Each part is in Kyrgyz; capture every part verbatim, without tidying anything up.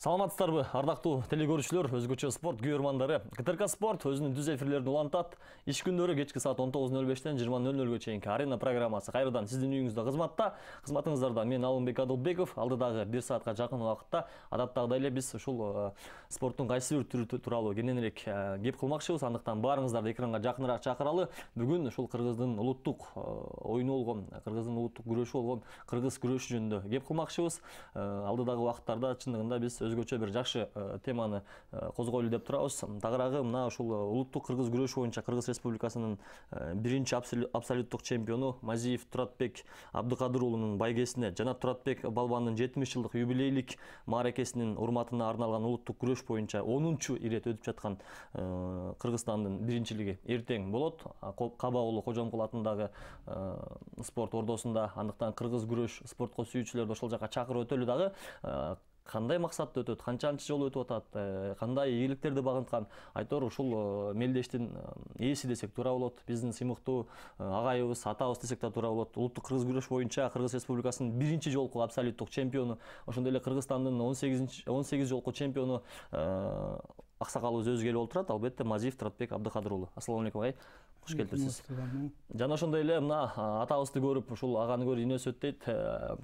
Саламатсыздарбы, ардактуу телекөрүүчүлөр, өзгөчө спорт күйөрмандары. КТРК Спорт өзүнүн түз эфирлерин улантат. Иш күндөрү кечки саат он тогуз нөл бештен жыйырма нөл нөлгө чейинки арена программасы кайрадан сиздин үйүңүздө кызматта. Кызматыңыздарда мен Алымбек Адылбеков. Алдыдагы бир саатка жакын убакытта адаттагыдай эле биз ушул спорттун кайсы бир түрү тууралуу кененирээк кеп кылмакчыбыз. Андыктан баарыңыздарды экранга жакыныраак чакыралы. Бүгүн ушул Кыргыздын улуттук оюну болгон, Кыргыздын улуттук күрөшү болгон кыргыз күрөшү жөнүндө кеп кылмакчыбыз. Алдыдагы убакыттарда чындыгында биз өзгөчө бир жакшы теманы козгойлу деп турабыз. Тагыраагы мына ушул улуттук кыргыз күрөшү боюнча Кыргыз Республикасынын биринчи абсолюттук чемпиону Мазиев Туратбек Абдыкадыр уулунун байгесине жана Туратбек балбандын жетимиш жылдык юбилейлик мааракесинин урматына арналган улуттук күрөш боюнча онунчу ирет өтүп жаткан Кыргызстандын биринчилиги эртең болот. Каба уулу Кожомкул атындагы спорт ордосунда. Андыктан кыргыз күрөш спортко сүйүүчүлөрдү ошол жака чакырып өтөлү дагы. Кандай максатта өтөт, канчанчы жолу өтүп атат, кандай ийгиликтерди багынткан айтор ушул мелдештин ээси десек туура болот. Биздин сыймыктуу агайыбыз, атабыз десек да туура болот. Улуттук кыргыз күрөш боюнча Кыргыз Республикасынын биринчи жолку абсолюттук чемпиону, ошондой эле Кыргызстандын он сегиз жолку чемпиону аксакалыбыз өзү келип олтурат. Албетте Мазиев Туратбек Абдыкадыр уулу. Ассаламу алейкум агай. Куш келиптирсиз. Жана ошондой эле мына атабызды көрүп, ушул аганы көрүп инөөсү өттөйт.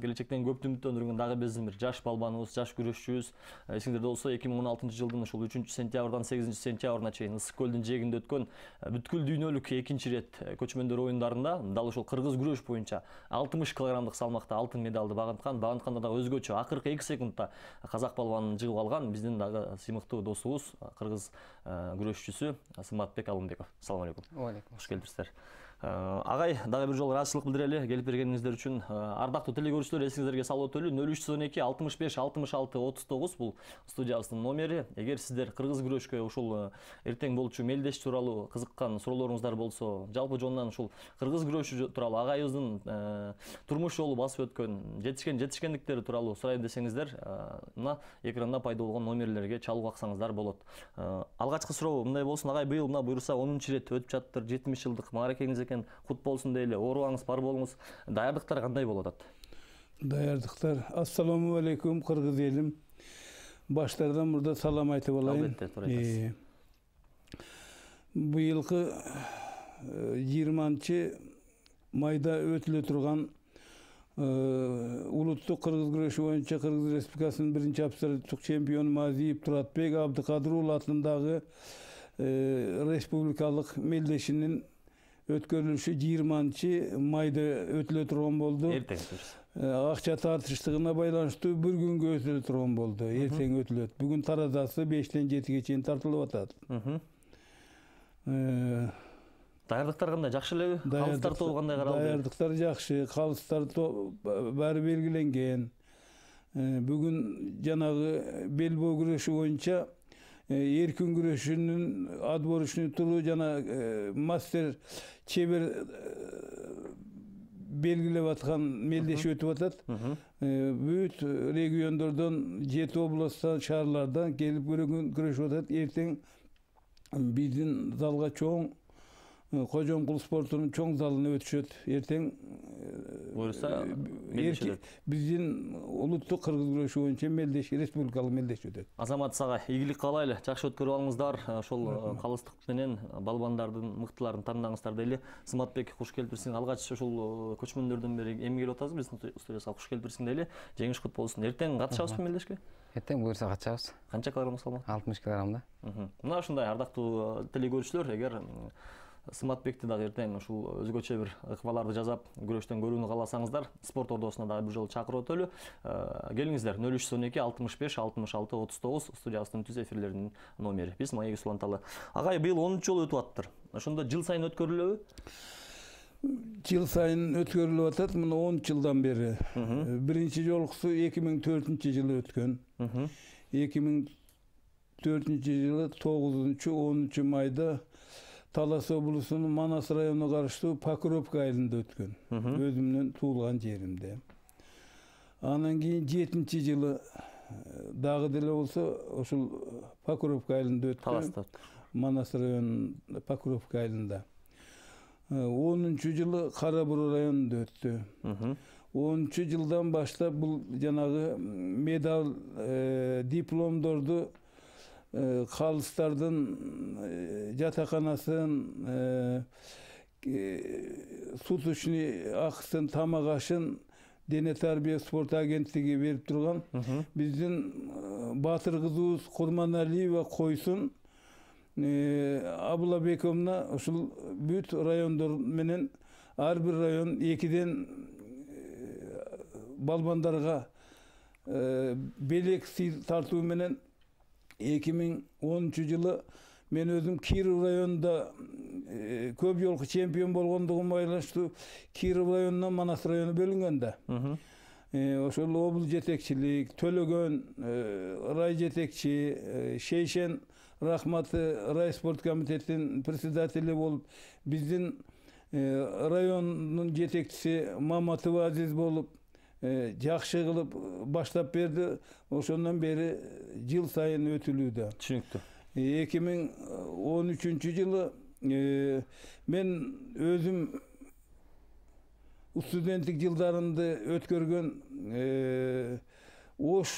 Келечектен көптү үмүттөндүргөн дагы биздин бир жаш балбаныбыз, жаш күрөшчүбүз. Эсиңдерде болсо эки миң он алтынчы жылдын ушул үчүнчү сентябрдан сегизинчи сентябрына чейин Ысык көлдүн жээгинде өткөн бүткүл дүйнөлүк экинчи ирет көчмөндөр оюндарында дал ушул кыргыз күрөш боюнча алтымыш килограммдык салмакта алтын медалды багынткан. Багынтканда дагы өзгөчө акыркы эки секундта казак балбанын жыгып алган биздин дагы сыймыктуу досубуз, кыргыз күрөшчүсү Сыматбек Алымбеков. Ассаламу алейкум. Куш келиптирсиздер. Агай, дагы бир жолу ыраазычылык билдирели келип бергениңиздер үчүн. Ардактуу телекөрүүчүлөр, эсиңиздерге салып өтөлү нөл үч жүз он эки алтымыш беш алтымыш алты отуз тогуз бул студиябыздын номери. Эгер сиздер кыргыз күрөшкө ушул эртең болчу мелдеш тууралуу кызыккан суроолоруңуздар болсо, жалпы жонунан ушул кыргыз күрөшү тууралуу агайыбыздын турмуш жолу басып өткөн жетишкен жетишкендиктери тууралуу сурайын десеңиздер, мына экранда пайда болгон номерлерге чалып аксаңыздар болот. Алгачкы суроо мындай болсун, агай, быйыл мына буюрса онунчу ирет өтүп жатыптыр, жетимиш жылдык мааракеңиз экен, кут болсун дейли, оорубаңыз, бар болуңуз. Даярдыктар кандай болуп атат? Даярдыктар. Ассаламу алейкум кыргыз элим. Баштардан мурда салам айтып алайын. Албетте, туура айтасыз. Быйылкы жыйырманчы майда өтүлө турган улуттук кыргыз күрөшү боюнча Кыргыз Республикасынын биринчи абсолюттук чемпиону Мазиев Туратбек Абдыкадыр уулу атындагы республикалык мелдешинин өткөрүлүшү жыйырманчы майда өтүлө турган болду. Эртең. Акча тартыштыгына байланыштуу бир күнгө өтүлө турган болду. Эртең өтүлөт. Бүгүн таразасы бештен жетиге чейин тартылып атат. Даярдыктар кандай, жакшы элеби? Калыстар тобу кандай каралды? Даярдыктар жакшы, калыстар баары белгиленген. Бүгүн жанагы белбоо күрөшү боюнча эркин күрөшүнүн отборочный туру жана мастер чебер белгилеп аткан мелдеш өтүп атат. Бүт региондордон, жети областтан, шаарлардан келип күрөшүп атат. Эртең биздин залга чоң Кожомкул спортунун чоң залына өтүшөт. Эртең буюрса биздин улуттук кыргыз күрөшү боюнча мелдеш, республикалык мелдеш өтөт. Азамат ага ийгилик каалайлы, жакшы өткөрүп алыңыздар. Ошол калыстык менен балбандардын мыктыларын тандаңыздар дейли. Сыматбек, куш келиптирсиң. Алгач ушул көчмөндөрдөн бери эми келип атасыз биздин студияга. Куш келиптирсиң дейли. Жеңиш кут болсун. Эртең катышабызбы мелдешке? Эртең буюрса катышабыз. Канча килограмм салмак? алтымыш килограммда. Мына ушундай ардактуу телекөрүүчүлөр, эгер Сыматбекти дагы эртең ушул өзгөчө бир ыкмаларды жасап, күрөштөн көрүүнү кааласаңыздар, спорт ордосуна дагы бир жолу чакырып өтөлү. Келиңиздер, нөл үч жүз он эки алтымыш беш алтымыш алты отуз тогуз студиябыздын түз эфирлеринин номери. Биз маегиз уланталы. Агай, быйыл онунчу жолу өтүп атыптыр. Ошондо жыл сайын өткөрүлөбү? Жыл сайын өткөрүлүп атат, мына он жылдан бери. Биринчи жолкусу эки миң төртүнчү жылы өткөн. эки миң төртүнчү жылы тогузунчу онунчу майда Талас облусунун Манас районуна караштуу Покровка айылында өткөн. Өзүмдүн туулган жеримде. Анан кийин жетинчи жылы дагы деле болсо ошол Покровка айылында өткөн. Таласта. Манас районунун Покровка айылында. онунчу жылы Кара Буруу районунда өттү. онунчу жылдан баштап бул жанагы медаль дипломдорду калыстардын жатаканасын, суточный акысын, тамак ашын дене тарбия спорт агенттиги берип турган. Биздин Батыр кызыбыз Курманалиева койсун Абула Бековна ушул бүт райондор менен ар бир район экиден балбандарга белек тартуу менен эки миң онунчу жылы мен өзүм Киров районунда көп жолку чемпион болгондугума байланыштуу Киров районунан Манас району бөлүнгөн да. Ошол облус жетекчилик, Төлөгөн рай жетекчи, Шейшен Рахматы рай спорт комитетинин председатели болуп, биздин райондун жетекчиси Маматова Азиз болуп, жакшы кылып баштап берди. Ошондон бери жыл сайын өтүлүүдө. Түшүнүктүү. эки миң он үчүнчү жылы мен өзүм студенттик жылдарымды өткөргөн Ош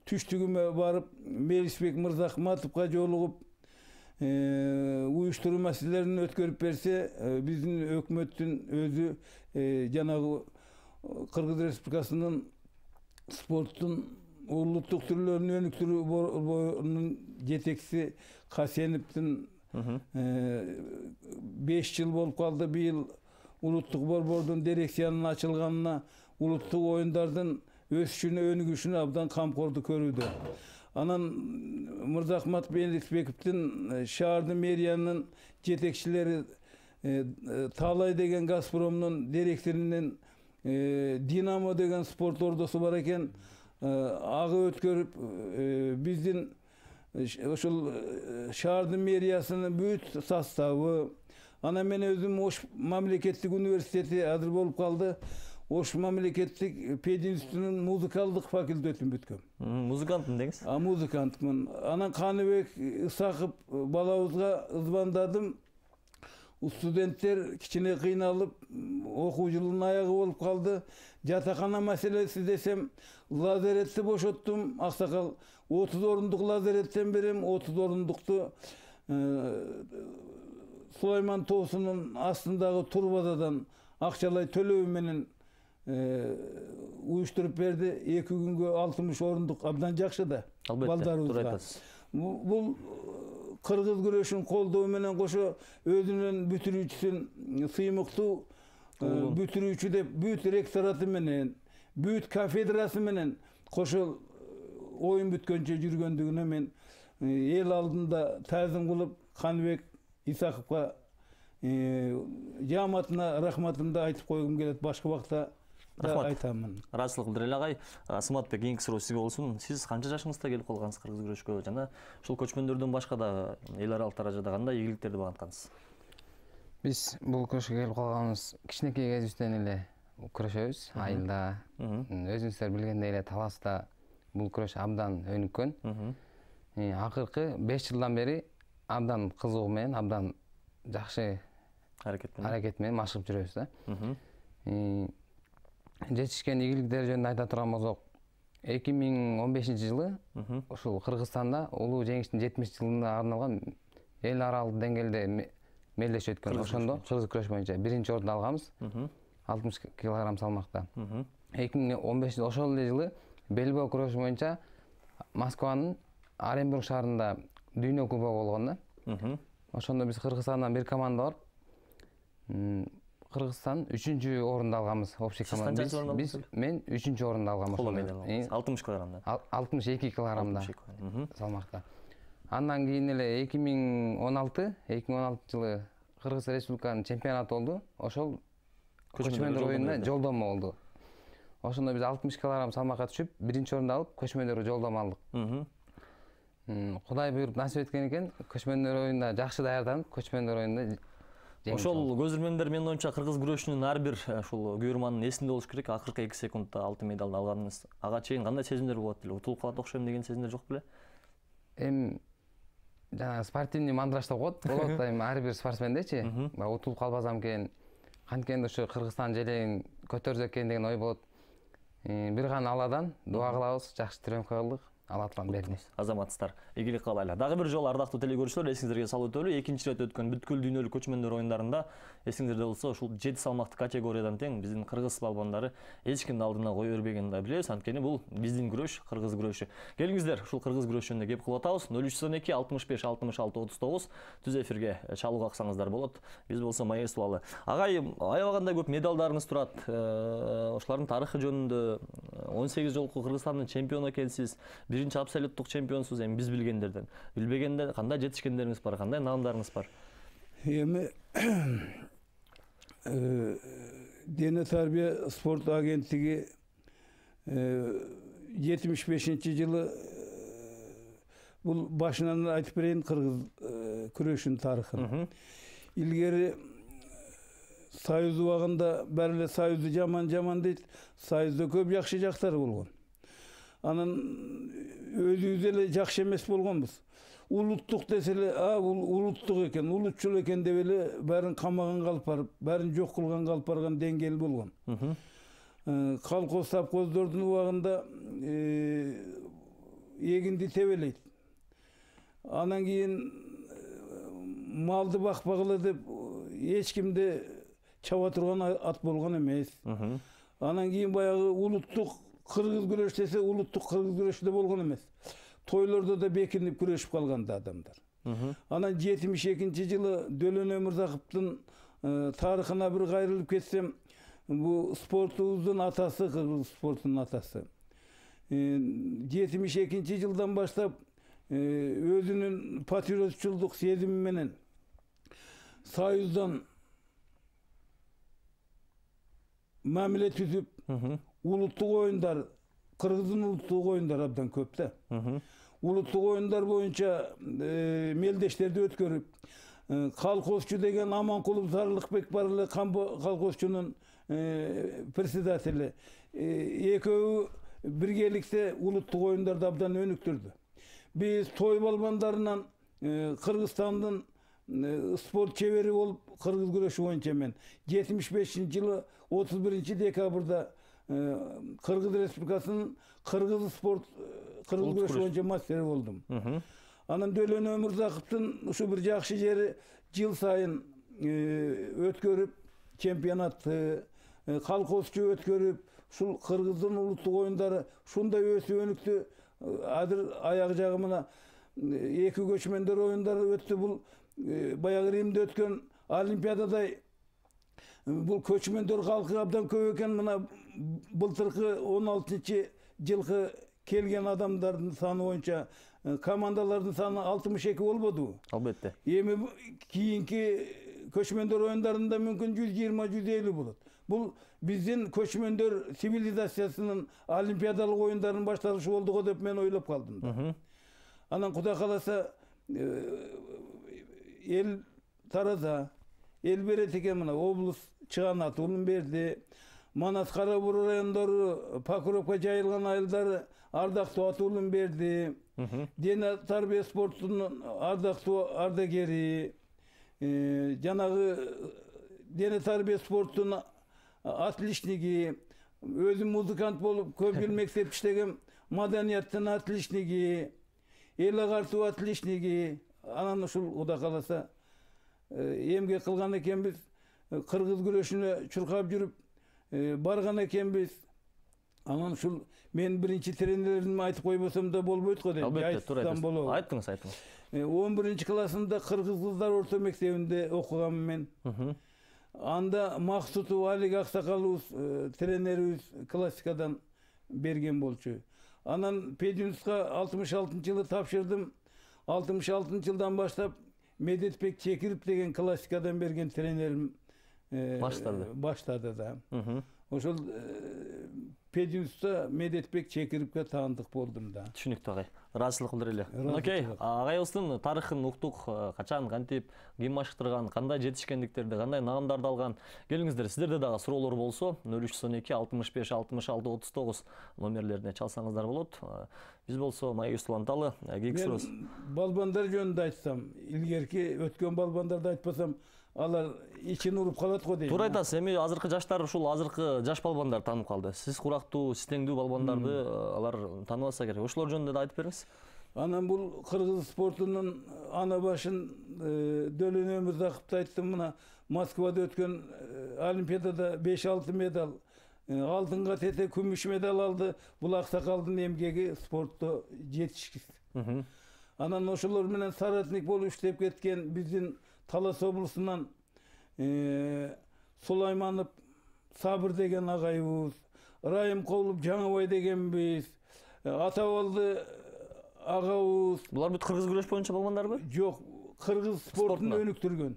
түштүгүмө барып Мелисбек Мырзахматовго жолугуп уюштуруу маселелерин өткөрүп берсе, биздин өкмөттүн өзү жанагы Кыргыз Республикасынын спорттун улуттук түрлөрүн өнүктүрүү борборунун жетекчиси Касеновдун беш жыл болуп калды. Быйыл улуттук борбордун дирекциянын ачылганына, улуттук оюндардын өсүшүнө, өнүгүшүнө абдан камкордук көрүүдө. Анан Мырзахмат Мелисбековдун шаардын мэриянын жетекчилери, Таалай деген Газпромдун директорунун Динамо деген спорт ордосу бар экен. Ага өткөрүп, биздин ошол шаардын мэриясынын бүт составы, анан мен өзүм Ош мамлекеттик университети азыр болуп калды. Ош мамлекеттик пединститутунун музыкалдык факультетин бүткөм. Музыкантмын деңиз? А музыкантмын. Анан Каныбек Исаков балабызга ызбандадым. Студенттер кичине кыйналып, окуу жылынын аягы болуп калды. Жатакана маселеси десем, лазаретти бошоттум. Аксакал отуз орундук лазареттен берем, отуз орундукту Сулайман тоосунун астындагы турбададан акчалай төлөө менен уюштуруп берди. Эки күнгө алтымыш орундук абдан жакшы да. Балдарыбызга. Бул кыргыз күрөшүн колдоо менен кошо өзүнүн бүтүрүүчүсүн сыймыктуу бүтүрүүчү деп бүт ректораты менен, бүт кафедрасы менен кошо оюн бүткөнчө жүргөндүгүнө мен эл алдында таазим кылып Каныбек Исаковго жааматына рахматымды айтып койгум келет. Башка убакта да айтамын. Ыраазычылык билдирели агай. Сыматбек, кийинки суроо сизге болсун. Сиз канча жашыңызда келип калгансыз кыргыз күрөшкө жана ушул көчмөндөрдөн башка да эл аралык даражада кандай ийгиликтерди багынткансыз? Биз бул күрөшкө келип калганыбыз кичинекей кезибизден эле күрөшөбүз. Айылда, өзүңүздөр билгендей эле Таласта бул күрөш абдан өнүккөн. Акыркы беш жылдан бери абдан кызыгуу менен, абдан жакшы аракет менен машыгып жүрөбүз да. Жетишкен ийгиликтер жөнүндө айта турган болсок, эки миң он бешинчи жылы ушул Кыргызстанда улуу жеңиштин жетимиш жылына арналган эл аралык деңгээлде мелдеш өткөн. Ошондо кыргыз күрөш боюнча биринчи орунду алганбыз, алтымыш килограмм салмакта. эки миң он бешинчи ошол эле жылы белбоо күрөшү боюнча Москванын Оренбург шаарында дүйнө кубогу болгон да. Ошондо биз Кыргызстандан бир команда барып, Кыргызстан үчүнчү орунду алганбыз. Общий команда. Биз мен үчүнчү орунду алгам ошондо. алтымыш килограммда. алтымыш эки килограммда салмакта. Андан кийин эле эки миң он алты жылы Кыргыз Республиканын чемпионаты болду. Ошол көчмөндөр оюнуна жолдомо болду. Ошондо биз алтымыш килограмм салмакка түшүп, биринчи орунду алып, көчмөндөргө жолдомо алдык. Кудай буйруп насип эткен экен, көчмөндөр оюнуна жакшы даярданып, көчмөндөр оюнунда ошол көзүрмөндөр менин оюнча кыргыз күрөшүнүн ар бир ушул күйөрманын эсинде болуш керек. Акыркы эки секундда алтын медалды алганыңыз. Ага чейин кандай сезимдер болот эле? Утулуп калат окшойм деген сезимдер жок беле? Эми жана спортивный мандраж деп коет. Болот эми ар бир спортсмендечи, утулуп калбасам экен, Канткенде ушу Кыргызстан желегин көтөрсөк экен деген ой болот. Бир гана Алладан дуа кылабыз, жакшы тренировка кылдык. Ала турган берди. Азаматсыздар, ийгилик каалайлы. Дагы бир жолу ардактуу телекөрүүчүлөр, эсиңиздерге салып өтөлү, экинчи ирет өткөн бүткүл дүйнөлүк көчмөндөр оюндарында эсиңиздерде болсо, ушул жети салмактуу категориядан тең биздин кыргыз балбандары эч кимдин алдына кое бербегенин да билебиз. Анткени бул биздин күрөш, кыргыз күрөшү. Келиңиздер, ушул кыргыз күрөшү жөнүндө кеп кылып атабыз. нөл үч жүз он эки алтымыш беш алтымыш алты отуз тогуз түз эфирге чалууга аксаңыздар болот. Биз болсо маестуалы. Агай, аябагандай көп медалдарыңыз турат. Ошолордун тарыхы жөнүндө он сегиз жолку Кыргызстандын чемпиону экенсиз. Биринчи абсолюттук чемпионсуз, эми биз билгендерден. Билбегенде кандай жетишкендериңиз бар, кандай наамдарыңыз бар? Эми Дене тарбия спорт агенттиги жетимиш бешинчи жылы бул башынан айтып берейин кыргыз күрөшүнүн тарыхын. Илгери Союз убагында баары эле Союзду жаман жаман дейт, Союзда көп жакшы жактары болгон. Анан өзүбүз эле жакшы эмес болгонбуз. Улуттук десе эле, а бул улуттук экен, улутчул экен деп эле баарын камаган калып барып, баарын жок кылган калып барган деңгээл болгон. Колхоз совхоздордун убагында эгинди тебелейт. Анан кийин малды бакпагыла деп эч кимди чаба турган ат болгон эмес. Анан кийин баягы улуттук кыргыз күрөш десе, улуттук кыргыз күрөшү да болгон эмес. Тойлордо да бекинип күрөшүп калган да адамдар. Анан жетимиш экинчи жылы Дөлөн Өмүрзаковдун тарыхына бир кайрылып кетсем, бу спортубуздун атасы, кыргыз спортунун атасы. жетимиш экинчи жылдан баштап өзүнүн патриотчулдук сезими менен Союздан мамиле түзүп, улуттук оюндар, кыргыздын улуттук оюндары абдан көп да. Улуттук оюндар боюнча мелдештерди өткөрүп, колхозчу деген Аманкулов Сарылыкбек бар эле колхозчунун председатели. Экөө биргеликте улуттук оюндарды абдан өнүктүрдү. Биз той балбандарынан Кыргызстандын спорт чебери болуп, кыргыз күрөшү боюнча мен жетимиш бешинчи жылы отуз биринчи декабрда Кыргыз Республикасынын кыргыз спорт кыргыз күрөшү боюнча мастери болдум. Анан Дөлөн Өмүрзаковдун ушу бир жакшы жери жыл сайын өткөрүп, чемпионатты, колхозчу өткөрүп, ушул кыргыздын улуттук оюндары ушундай өсүп өнүктү. Азыр аяк жагы мына эки көчмөндөр оюндары өттү. Бул баягы Римде өткөн олимпиададай бул көчмөндөр калкы абдан көп экен. Мына былтыркы он алтынчы жылкы келген адамдардын саны боюнча командалардын саны алтымыш эки болбодубу? Албетте. Эми кийинки көчмөндөр оюндарында мүмкүн жүз жыйырма жүз элүү болот. Бул биздин көчмөндөр цивилизациясынын олимпиадалык оюндарынын башталышы болду го деп мен ойлоп калдым да. Анан Кудай кааласа эл тараза, эл берет экен, мына облус чыганат улун берди. Манас Кара Буру райондору, Покровка жайылган айылдары ардактуу ат улун берди. Дене тарбия спортунун ардактуу ардагери, жанагы дене тарбия спортунун отличниги, өзүм музыкант болуп көп жыл мектеп иштеген маданияттын отличниги, эл агартуу отличниги. Анан ушул Кудай кааласа эмгек кылган экенбиз, кыргыз күрөшүнө чуркап жүрүп барган экенбиз. Анан ушул мен биринчи тренеримди айтып койбосом да болбойт го дейм. Албетте, туура айтасыз. Айттыңыз, айттыңыз. он биринчи классымда кыргыз кыздар орто мектебинде окуганмын мен. Анда Максутов Алик Аксакалыбыз тренерибиз классикадан берген болчу. Анан Пединуска алтымыш алтынчы жылы тапшырдым. алтымыш алтынчы жылдан баштап Медетбек Чекиров деген классикадан берген тренерим баштады. Баштады да. Ошол Пединуста Медетбек Чекировго таандык болдум да. Түшүнүктүү агай. Ыраазычылык билдирели. Окей, агайыбыздын тарыхын уктук, качан, кантип, ким машыктырган, кандай жетишкендиктерди, кандай наамдарды алган. Келиңиздер, сиздерде дагы суроолор болсо, нөл үч жүз он эки алтымыш беш алтымыш алты отуз тогуз номерлерине чалсаңыздар болот. Биз болсо Маегис уланталы кийинки Мен суроо. балбандар жөнүндө айтсам, илгерки өткөн балбандарды айтпасам, алар ичин уруп калат го дейм. Туура айтасыз. Эми азыркы жаштар ушул азыркы жаш балбандар таанып калды. Сиз курактуу, сиз теңдүү балбандарды алар тааныбаса керек. Ошолор жөнүндө да айтып бериңиз. Анан бул кыргыз спортунун ана башын Дөлөн Өмүрзаковду айттым. Мына Москвада өткөн Олимпиадада беш алты медаль, алтынга тете күмүш медаль алды. Бул аксакалдын эмгеги спортто жетишкис. Анан ошолор менен соратник болуп иштеп кеткен биздин Талас облусунан Сулайманов Сабыр деген агайыбыз, Райымкулов Жаңыбай дегенбиз, Атабалды агабыз. Булар бүт кыргыз күрөш боюнча балбандарбы? Жок, кыргыз спортун өнүктүргөн.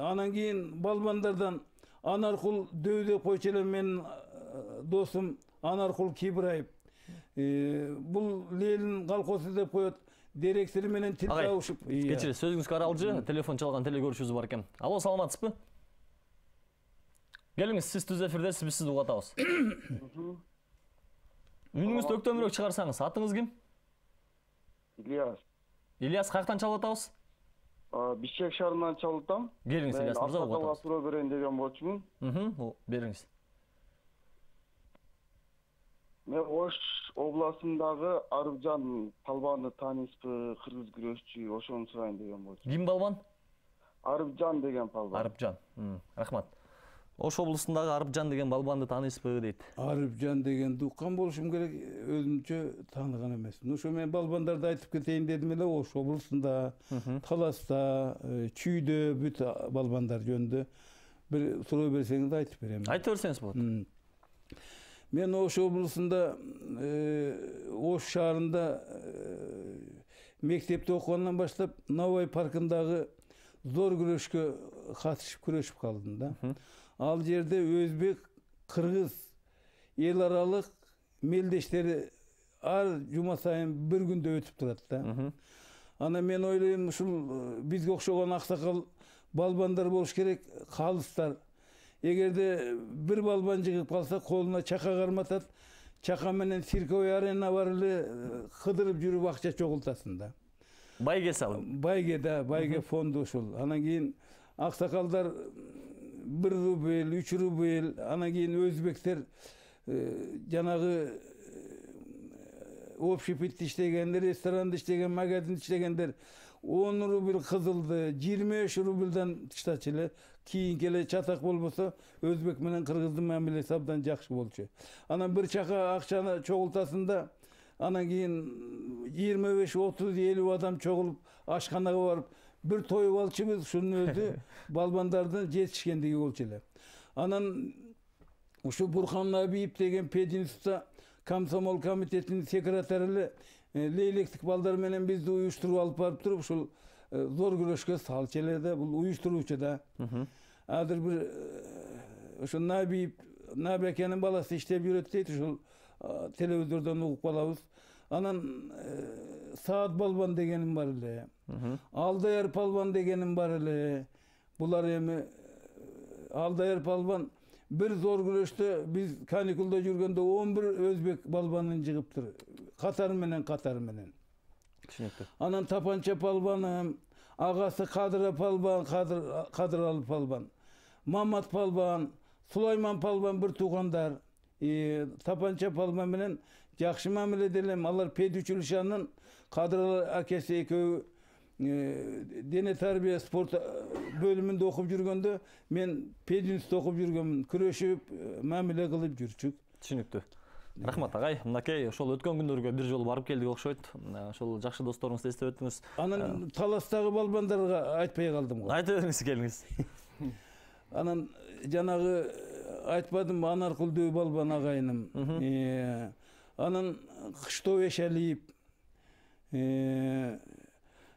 Анан кийин балбандардан Анаркул Дөйдө койчу менин досум Анаркул Кибраев. Бул Ленин колхозу деп коет. Директори менен тил табышып. Кечири, сөзүңүзгө аралжы, телефон чалган телегөрүүчүбүз бар экен. Алло, саламатсызбы? Келиңиз, сиз түз эфирдесиз, биз сизди угатабыз. Үнүңүздү өктөмүрөөк чыгарсаңыз, атыңыз ким? Ильяс. Ильяс, каяктан чалып атабыз? Бишкек шаарынан чалып атам. Келиңиз, Ильяс мырза, угатабыз. Мен суроо берейин деген болчумун. Бериңиз. Мен Ош областындагы Арыпжан балбанды тааныйсызбы, кыргыз күрөшчү, ошону сурайын деген болчумун. Ким балбан? Арыпжан деген балбан. Арыпжан. Рахмат. Ош облусундагы Арыпжан деген балбанды тааныйсызбы дейт. Арыпжан дегенди уккан болушум керек, өзүмчө тааныган эмесмин. Ошо мен балбандарды айтып кетейин дедим эле. Ош облусунда, Таласта, Чүйдө бүт балбандар жөнүндө бир суроо берсеңиз айтып берем. Айтып берсеңиз болот. Мен Ош облусунда, Ош шаарында мектепте окугандан баштап Новой паркындагы зор күрөшкө катышып күрөшүп калдым да. Ал жерде өзбек, кыргыз эл аралык мелдештери ар жума сайын бир күндө өтүп турат да. Ана мен ойлойм, ушул бизге окшогон аксакал балбандар болуш керек, калыстар. Эгерде бир балбан жыгып калса, колуна чака карматат, чака менен цирковый арена бар эле, кыдырып жүрүп акча чогултасың да. Байге салып. Байге да, байге фонду ушул. Анан кийин аксакалдар бир рубль, үч рубль, анан кийин өзбектер жанагы общепитте иштегендер, ресторанда иштеген, магазинде иштегендер он рубль кызылды, жыйырма беш рубльдан тыштачу эле. Кийинки эле чатак болбосо, өзбек менен кыргыздын мамилеси абдан жакшы болчу. Анан бир чака акчаны чогултасың да, анан кийин жыйырма беш, отуз, элүү адам чогулуп ашканага барып, бир тоюп алчубуз, ушунун өзү балбандардын жетишкендиги болчу эле. Анан ушу Бурхан Набиев деген пединститутта комсомол комитетинин секретары эле лейлектик балдар менен бизди уюштуруп алып барып туруп, ушул зор күрөшкө салчу эле да, бул уюштуруучу да. Азыр бир ошо Набиев, Набекенин баласы иштеп жүрөт дейт, ушул телевизордон угуп калабыз. Анан Саат балбан дегеним бар эле. Алдаяр балбан дегеним бар эле. Булар эми Алдаяр балбан бир зор күрөштө биз каникулда жүргөндө он бир өзбек балбанын жыгыптыр. Катары менен катары менен. Түшүнүктүү. Анан Тапанча балбаным, агасы Кадыр балбан, Кадыр Кадыралы балбан, Мамат балбан, Сулайман балбан бир туугандар. Тапанча балбан менен жакшы мамиледе элем. Алар педучилищанын Кадыр акеси экөө дене тарбия спорт бөлүмүндө окуп жүргөндө мен пединститутта окуп жүргөмүн. Күрөшүп, мамиле кылып жүрчүк. Түшүнүктүү. Рахмат агай. Мынакей ошол өткөн күндөргө бир жолу барып келдик окшойт. Ошол жакшы досторуңузду эстеп өттүңүз. Анан Таластагы балбандарга айтпай калдым го. Айтып бериңиз, келиңиз. Анан жанагы айтпадым, Анаркул Дөй балбан агайыным. Анан Кыштоо Эшалиев,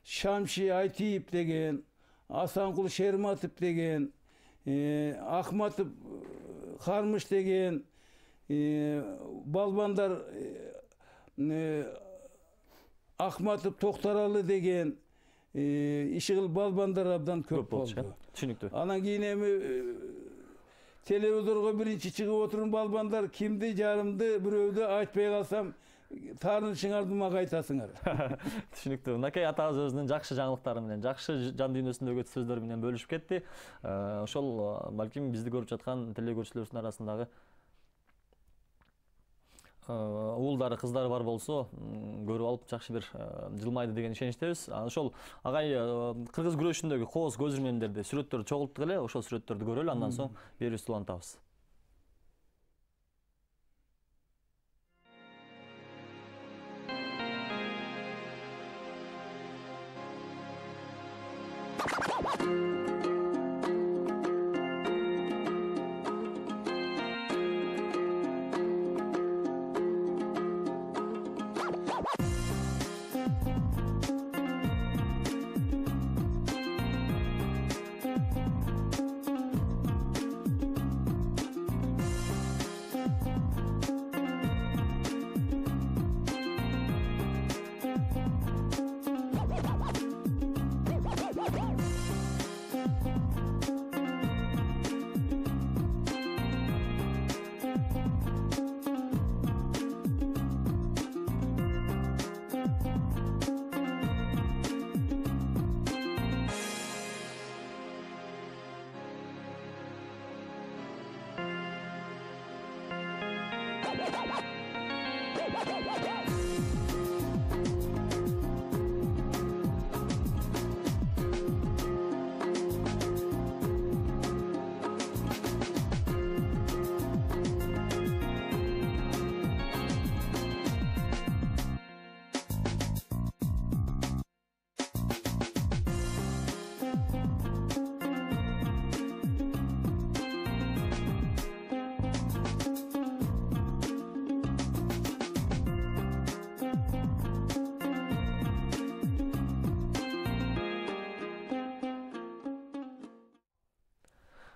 Шамши Айтиев деген, Асанкул Шерматов деген, Ахматов Хармыш деген балбандар, Ахматов Токтаралы деген ишигил балбандар абдан көп болду. Түшүнүктүү. Анан кийин эми телевизорго биринчи чыгып отурган балбандар кимди, жарымды, бирөөдү айтпай калсам таарынышыңарды мага айтасыңар. Түшүнүктүү. Мынакей атабыз өзүнүн жакшы жаңылыктары менен, жакшы жан дүйнөсүндөгү сөздөр менен бөлүшүп кетти. Ошол балким бизди көрүп жаткан теле көрүүчүлөрүбүздүн арасындагы уулдары, кыздары бар болсо, көрүп алып жакшы бир жылмайды деген ишеничтебиз. Ошол агай кыргыз күрөшүндөгү кооз көзүрмендерди, сүрөттөрдү чогулттук эле, ошол сүрөттөрдү көрөлү, андан соң берүүбүздү улантабыз.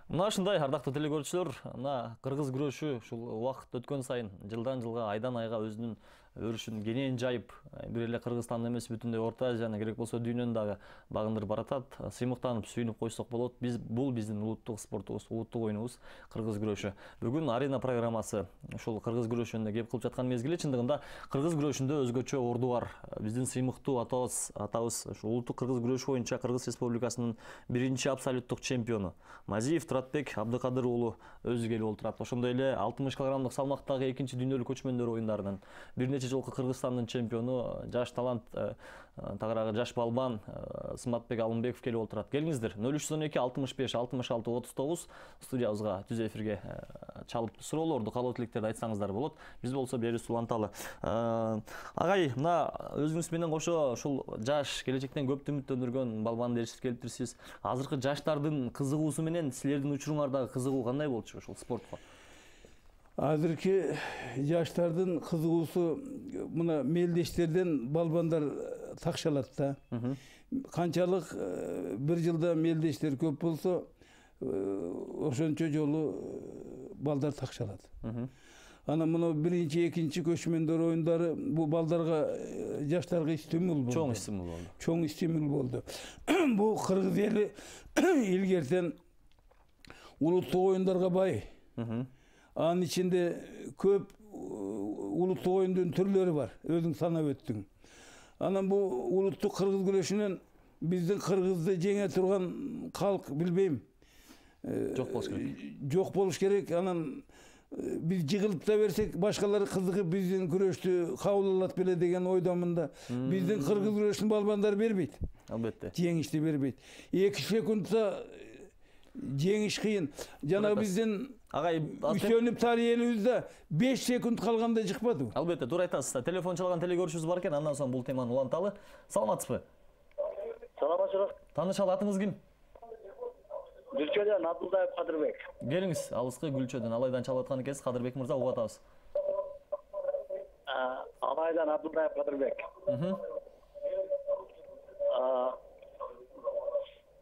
Мына ушундай ардактуу теле көрүүчүлөр, мына кыргыз күрөшү ушул убакыт өткөн сайын, жылдан жылга, айдан айга өзүнүн өрүшүн кенен жайып, бир эле Кыргызстан эмес, бүтүндөй Орто Азияны, керек болсо дүйнөнү дагы багындырып баратат. Сыймыктанып, сүйүнүп койсок болот. Биз бул биздин улуттук спортубуз, улуттук оюнубуз кыргыз күрөшү. Бүгүн арена программасы ушул кыргыз күрөшүнө кеп кылып жаткан мезгили чындыгында кыргыз күрөшүндө өзгөчө орду бар. Биздин сыймыктуу атабыз, атабыз ушул улуттук кыргыз күрөшү боюнча Кыргыз Республикасынын биринчи абсолюттук чемпиону Мазиев Туратбек Абдыкадыр уулу өзү келип отурат. Ошондой эле алтымыш килограммдык салмактагы экинчи дүйнөлүк көчмөндөр оюндарынын бир нече жолку Кыргызстандын чемпиону, жаш талант, тагыраагы жаш балбан Сыматбек Алымбеков келип отурат. Келиңиздер. нөл үч он эки алтымыш беш алтымыш алты отуз тогуз студиябызга түз эфирге чалып суроолорду, каалоо тилектерди айтсаңыздар болот. Биз болсо берүүбүздү уланталы. Агай, мына өзүңүз менен кошо ушул жаш, келечектен көптү үмүттөндүргөн балбанды ээрчитип келиптирсиз. Азыркы жаштардын кызыгуусу менен силердин учуруңардагы кызыгуу кандай болчу ушул спортко? Азыркы жаштардын кызыгуусу мына мелдештерден балбандар такшалат да. Канчалык бир жылда мелдештер көп болсо, ошончо жолу балдар такшалат. Ана мына биринчи, экинчи көчмөндөр оюндары бул балдарга, жаштарга стимул болду. Чоң стимул болду. Чоң стимул болду. Бул кыргыз эли илгертен улуттук оюндарга бай. Анын ичинде көп улуттук оюндун түрлөрү бар, өзүң санап өттүң. Анан бул улуттук кыргыз күрөшүнөн биздин кыргызды жеңе турган калк билбейм. Жок болуш керек. Жок болуш керек. Анан биз жыгылып да берсек, башкалар кызыгып биздин күрөштү кабыл алат беле деген ойдомун да. Биздин кыргыз күрөшүнүн балбандары бербейт. Албетте. Жеңишти бербейт. эки секундта жеңиш кыйын. Жана биздин агай үсөнүп тарыйыбызда беш секунд калганда жыкпады. Албетте, туура айтасыз. Телефон чалган теле көрүүчүбүз бар экен, андан соң бул теманы уланталы. Саламатсызбы? Саламатчылык. Таанышалы, атыңыз ким? Гүлчөдөн Абдулдаев Кадырбек. Келиңиз, алыскы Гүлчөдөн Алайдан чалып аткан экенсиз. Кадырбек мырза, угуп атабыз. Алайдан Абдулдаев Кадырбек.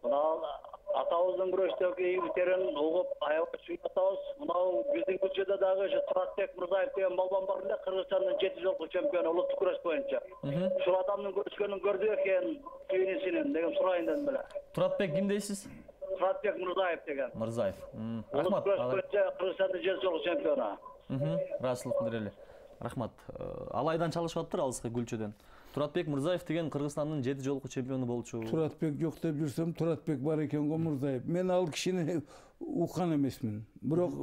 Мына атабыздын күрөштөгү ийгиликтерин угуп, аябай сүйүнүп атабыз. Мынау биздин Гүлчөдө дагы Туратбек Мырзаев деген балбан бар эле, Кыргызстандын жети жолку чемпиону улуттук күрөш боюнча. Ушул адамдын күрөшкөнүн көрдү экен, сүйүнүсүнүн деген сурайын дедим беле. Туратбек ким дейсиз? Туратбек Мырзаев деген. Мырзаев. Рахмат. Кыргызстандын жети жолку чемпиону. Ыраазычылык билдирели. Рахмат. Алайдан чалышып аттыр алыскы Гүлчөдөн. Туратбек Мырзаев деген Кыргызстандын жети жолку чемпиону болчу. Туратбек жок деп жүрсөм, Туратбек бар экен го Мырзаев. Мен ал кишини уккан эмесмин. Бирок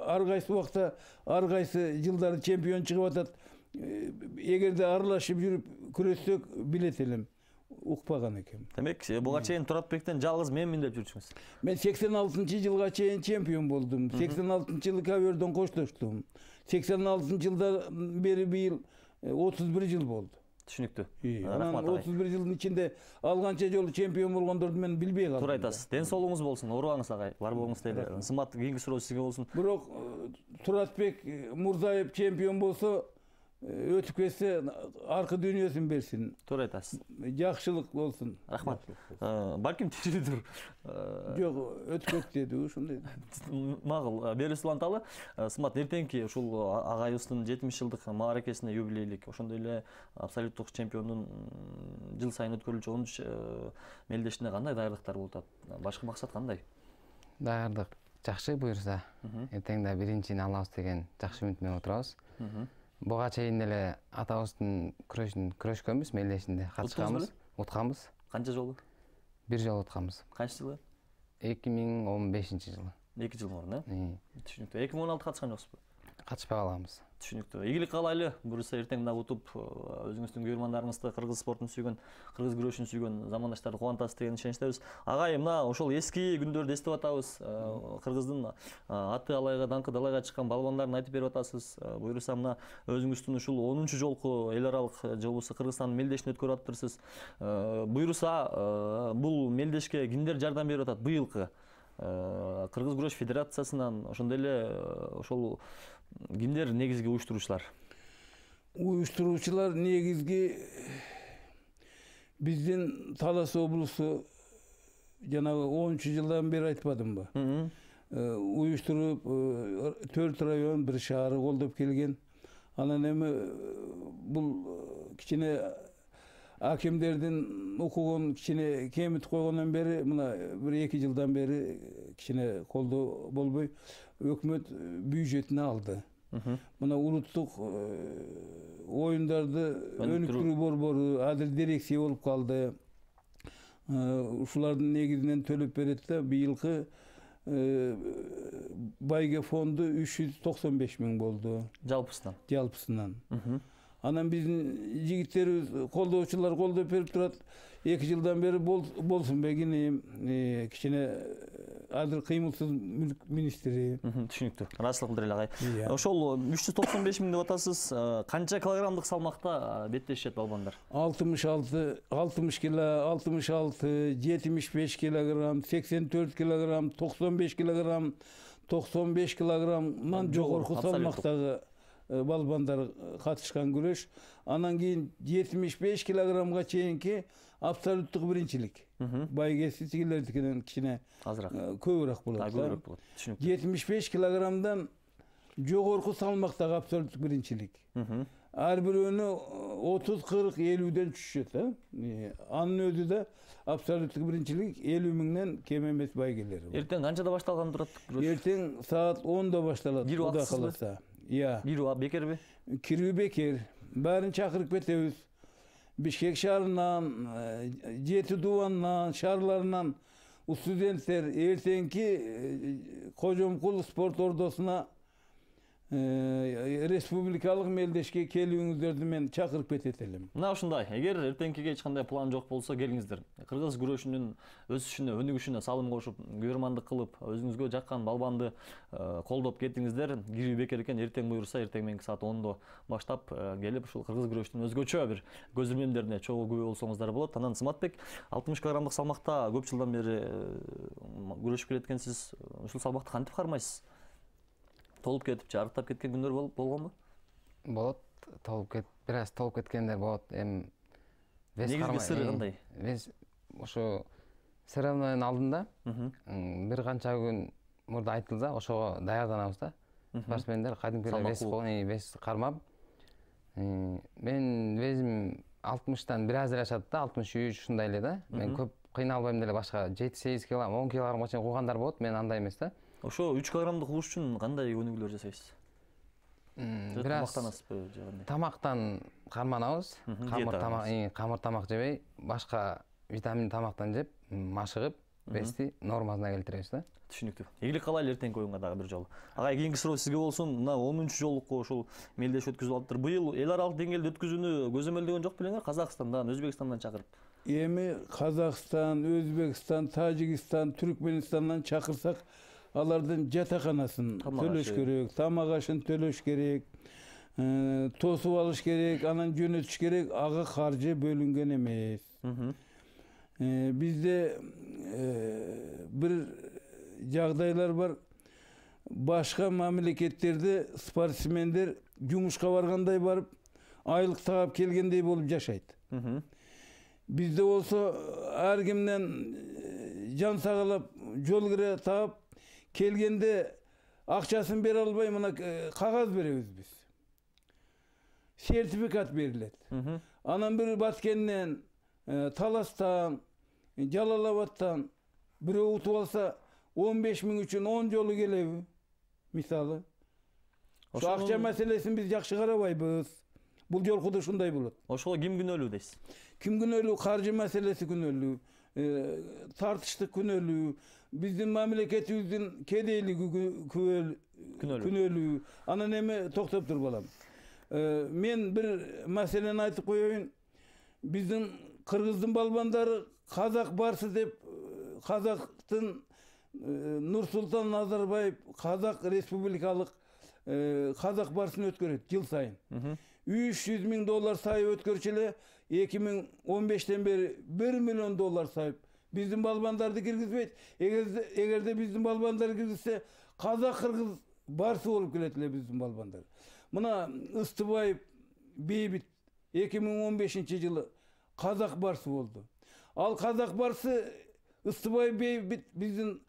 ар кайсы убакта, ар кайсы жылдары чемпион чыгып атат. Эгерде аралашып жүрүп күрөссөк билет элем. Укпаган экен. Демек, буга чейин Туратбектен жалгыз менмин деп жүрчүңүз. Мен сексен алтынчы жылга чейин чемпион болдум. сексен алтынчы жылы ковёрдон коштоштум. сексен алтынчы жылдан бери быйыл отуз бир жыл болду. Түшүнүктүү. Рахмат. отуз бир жылдын ичинде алганча жолу чемпион болгондорду мен билбей калдым. Туура айтасыз. Ден соолугуңуз болсун, оорубаңыз агай. Бар болуңуз дейли. Сымбат, кийинки суроо сизге болсун. Бирок Туратбек Мурзаев чемпион болсо, өтүп кетсе аркы дүйнөсүн берсин. Туура айтасыз. Жакшылык болсун. Рахмат. Балким тирүүдүр. Жок, өтүп кетти деди, ушундай. Макул, Берис Уланталы, Сымбат, эртеңки ушул агайыбыздын жетимиш жылдык мааракесине юбилейлик, ошондой эле абсолюттук чемпиондун жыл сайын өткөрүлчү онунчу мелдешине кандай даярдыктар болуп атат? Башкы максат кандай? Даярдык жакшы буюрса, эртең да биринчини алабыз деген жакшы үмүт менен отурабыз. Буга чейин эле атабыздын күрөшүн күрөшкөнбүз, мелдешинде катышканбыз, утканбыз. Канча жолу? Бир жолу утканбыз. Канчы жылы? эки миң он бешинчи жылы. эки жыл мурун, э? Түшүнүктүү. эки миң он алты катышкан жоксузбу? Катышпай калганбыз. Түшүнүктүү. Ийгилик каалайлы. Буюрса эртең да утуп, өзүңүздүн көрөрмандарыңызды кыргыз спортун сүйгөн, кыргыз күрөшүн сүйгөн замандаштарды кубантасыз деген ишеничтебиз. Агай, мына ошол эски күндөрдү эстеп атабыз. Кыргыздын аты алайга, даңкы далайга чыккан балбандарын айтып берип атасыз. Буюрса мына өзүңүздүн ушул онунчу жолку эл аралык жолубузду Кыргызстандын мелдешине өткөрүп атыптырсыз. Буюрса бул мелдешке кимдер жардам берип атат быйылкы? Кыргыз күрөш федерациясынан, ошондой эле ошол кимдер негизги уюштуруучулар? Уюштуруучулар негизги биздин Талас облусу жанагы онунчу жылдан бери айтпадымбы? Уюштуруп төрт район, бир шаары колдоп келген. Анан эми бул кичине акимдердин укугун кичине кемитип койгондон бери, мына бир эки жылдан бери кичине колдоо болбой өкмөт бюджетине алды. Мына улуттук оюндарды өнүктүрүү борбору азыр дирекция болуп калды. Ушулардын негизинен төлөп берет да, быйылкы байге фонду үч жүз токсон беш миң болду. Жалпысынан? Жалпысынан. Анан биздин жигиттерибиз, колдоочулар колдоп берип турат. эки жылдан бери болсун бегинем, кичине азыр кыймылсыз мүлк министри. Түшүнүктүү. Ыраазычылык билдирели агай. Ошол үч жүз токсон беш миң деп атасыз. Канча килограммдык салмакта беттешет балбандар? алтымыш алты, алтымыш кило, алтымыш алты, жетимиш беш килограмм, сексен төрт килограмм, токсон беш килограмм, токсон беш килограммдан жогорку салмактагы балбандар катышкан күрөш. Анан кийин жетимиш беш килограммга чейинки абсолюттук биринчилик. Байгеси тигилердикинен кичине азыраак, көбүрөөк болот. Көбүрөөк болот. Түшүнүктүү. жетимиш беш килограммдан жогорку салмактагы абсолюттук биринчилик. Ар бирөөнү отуз, кырк, элүүдөн түшүшөт, э? Анын өзү да абсолюттук биринчилик элүү миңден кем эмес байгелери. Эртең канчада башталган турат? Эртең саат онда башталат. Кудай кааласа. Иә. Кирүү бекерби? Кирүү бекер. Баарын чакырып кетебиз. Бишкек шаарынан, жети дубанынан, шаарларынан студенттер эртеңки Кожомкул спорт ордосуна республикалык мелдешке келүүңүздөрдү мен чакырып кетет элем. Мына ушундай. Эгер эртеңкиге эч кандай план жок болсо, келиңиздер. Кыргыз күрөшүнүн өсүшүнө, өнүгүшүнө салым кошуп, көрөрмандык кылып, өзүңүзгө жаккан балбанды колдоп кетиңиздер. Кирүү бекер экен, эртең буюрса, эртең мененки саат ондо баштап келип, ушул кыргыз күрөшүнүн өзгөчө бир көз ирмемдерине чогуу күбө болсоңуздар болот. Анан Сыматбек, алтымыш килограммдык салмакта көп жылдан бери күрөшүп келеткенсиз. Ушул салмакты кантип кармайсыз? Толуп кетип, жарыктап кеткен күндөр болгонбу? Болот, толуп кет, бир аз толуп кеткендер болот. Эми вес кармай. Негизги сыры кандай? Вес ошо сырымдын алдында бир канча күн мурда айтылса, ошого даярданабыз да. Спортсмендер кадимки вес вес кармап. Мен весим алтымыштан бир аз эле ашат да, алтымыш үч ушундай эле да. Мен көп кыйналбайм деле, башка жети сегиз килограмм, он килограммга чейин куугандар болот, мен андай эмес да. Ошо үч килограммдык уруш үчүн кандай өнүгүүлөр жасайсыз? Бир тамактанасызбы же кандай? Тамактан карманабыз. Камыр тамак, камыр тамак жебей, башка витамин тамактан жеп, машыгып, вести нормасына келтиребиз да. Түшүнүктүү. Ийгилик каалайлы эртеңки оюнга дагы бир жолу. Агай, кийинки суроо сизге болсун. Мына онунчу жолуку ушул мелдешип өткүзүп алыптыр. Быйыл эл аралык деңгээлде өткүзүүнү көзөмөлдөгөн жок белеңер? Казакстандан, Өзбекстандан чакырып. Эми Казакстан, Өзбекстан, Тажикстан, Түркменистандан чакырсак, алардын жатаканасын төлөш керек, тамак ашын төлөш керек, тосуп алыш керек, анан жөнөтүш керек, ага каржы бөлүнгөн эмес. Бизде бир жагдайлар бар. Башка мамлекеттерде спортсмендер жумушка баргандай барып, айлык таап келгендей болуп жашайт. Бизде болсо ар кимден жан сагалап, жол кире таап келгенде акчасын бере албай, мына кагаз беребиз биз. Сертификат берилет. Анан бир Баткенден, Таластан, Жалалабадтан бирөө утуп алса, он беш миң үчүн он жолу келеби? Мисалы. Ошо акча маселесин биз жакшы карабайбыз. Бул жолку да ушундай болот. Ошого ким күнөөлүү дейсиз? Ким күнөөлүү? Каржы маселеси күнөөлүү, тартыштык күнөөлүү, биздин мамлекетибиздин кедейлиги күнөөлүү. Анан эми токтоп тур балам. Мен бир маселени айтып коеюн. Биздин кыргыздын балбандары казак барсы деп, казактын Нурсултан Назарбаев казак республикалык казак барсын өткөрөт жыл сайын. үч жүз миң доллар сайып өткөрчү эле, эки миң он бештен бери бир миллион доллар сайып. Биздин балбандарды киргизбейт. Эгерде биздин балбандар киргизсе, казак кыргыз барсы болуп келет эле биздин балбандар. Мына Ыстыбаев Бейбит эки миң он бешинчи жылы казак барсы болду. Ал казак барсы Ыстыбаев Бейбит биздин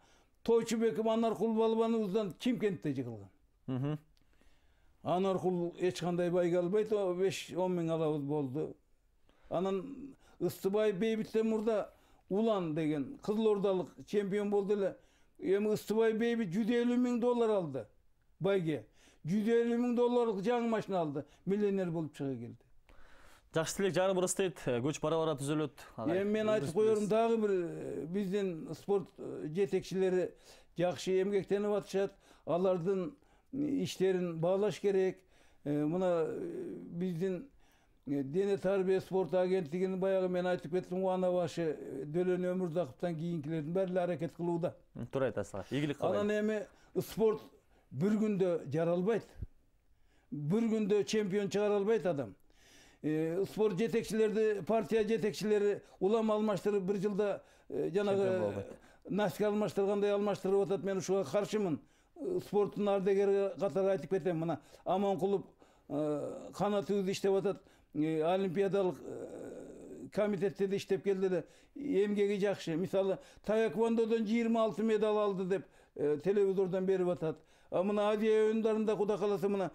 Тойчубеков Анаркул балбаныбыздан Чимкентте жыгылган. Анаркул эч кандай байга албайт, беш он миң алабыз болду. Анан Ыстыбаев Бейбиттен мурда Улан деген Кызылордалык чемпион болду эле. Эми Ыстыбаев Бейбит жүз элүү миң доллар алды байге. жүз элүү миң долларлык жаңы машина алды. Миллионер болуп чыга келди. Жакшы тилек жары бырыстайт, көч бара-бара түзөлөт. Эми мен айтып коерум, дагы бир биздин спорт жетекчилери жакшы эмгектенип атышат. Алардын иштерин баалаш керек. Мына биздин дене тарбия спорт агенттигинин баягы мен айтып кеттим, Уана башы Дөлөн Өмүрзаковтан кийинкилердин баары эле аракет кылууда. Туура айтасыз. Ийгилик каалайм. Анан эми спорт бир күндө жаралбайт. Бир күндө чемпион чыгара албайт адам. Спорт жетекчилерди, партия жетекчилери улам алмаштырып бир жылда жанагы наска алмаштыргандай алмаштырып атат. Мен ушуга каршымын. Спорттун ардагери катары айтып кетем. Мына Аманкулов канатыбыз иштеп атат. Олимпиадалык комитетте де иштеп келди эле. Эмгеги жакшы. Мисалы, таэквондодон жыйырма алты медаль алды деп телевизордон берип атат. А мына Азия оюндарында куда каласа мына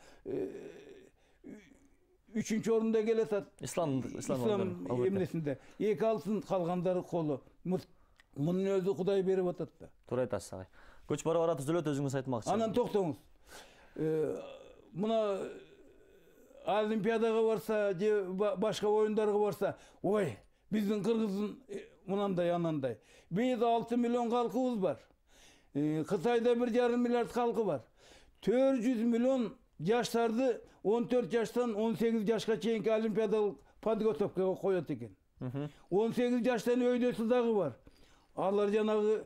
үчүнчү орунда келатат. Ислам ислам эмнесинде эки алтын, калгандары колу. Мунун өзү Кудай берип атат да. Туура айтасыз агай. Көч бара-бара түзөлөт, өзүңүз айтмакчы. Анан токтоңуз. Мына Олимпиадага барса, же башка оюндарга барса, ой, биздин кыргыздын мынандай анандай. Бизде алты миллион калкыбыз бар. Кытайда бир жарым миллиард калкы бар. төрт жүз миллион жаштарды он төрт жаштан он сегиз жашка чейинки олимпиадалык подготовкага коет экен. он сегиз жаштан өйдөсү дагы бар. Алар жанагы